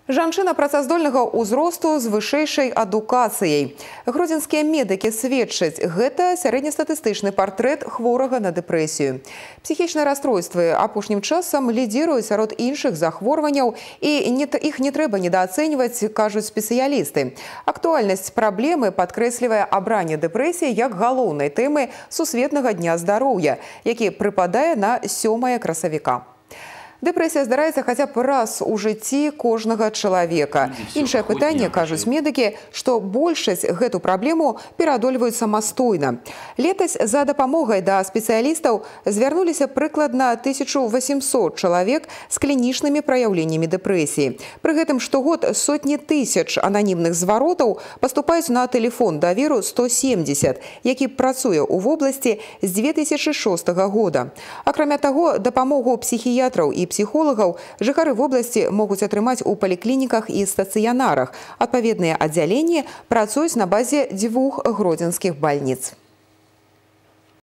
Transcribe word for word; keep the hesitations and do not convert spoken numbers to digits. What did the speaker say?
Жанчына працаздольнага ўзросту з вышэйшай адукацыяй. Гродзенскія медыкі сведчаць, гэта сярэднестатыстычны партрэт хворага на дэпрэсію. Псіхічныя расстройствы апошнім часам лідзіруюць сярод іншых захворванняў, і іх не трэба недаацэньваць, кажуць спецыялісты. Актуальнасць праблемы падкрэслівае абранне дэпрэсіі як галоўнай тэмы Сусветнага дня здароўя, які прыпадае на сёмае красавіка. Дэпрэсія здараецца хаця б раз у жыцці кожнага чалавека. Іншае пытанне, кажуць медыкі, што большасць гэту праблему пераадольваюць самастойна. Летась за дапамогай да спецыялістаў звярнуліся прыкладна тысячу восемьсот чалавек з клінічнымі праяўленнямі дэпрэсіі. Пры гэтым штогод сотні тысяч ананімных зваротаў паступаюць на тэлефон даверу сто семьдесят, які працуе ў вобласці з дзве тысячы шостага года. Акрамя таго, дапамогу псіхіятраў і псіхолагаў жыхары вобласці могуць атрымаць у паліклініках і стацыянарах. Адпаведныя аддзяленні працуюць на базе дзвюх гродзенскіх бальніц.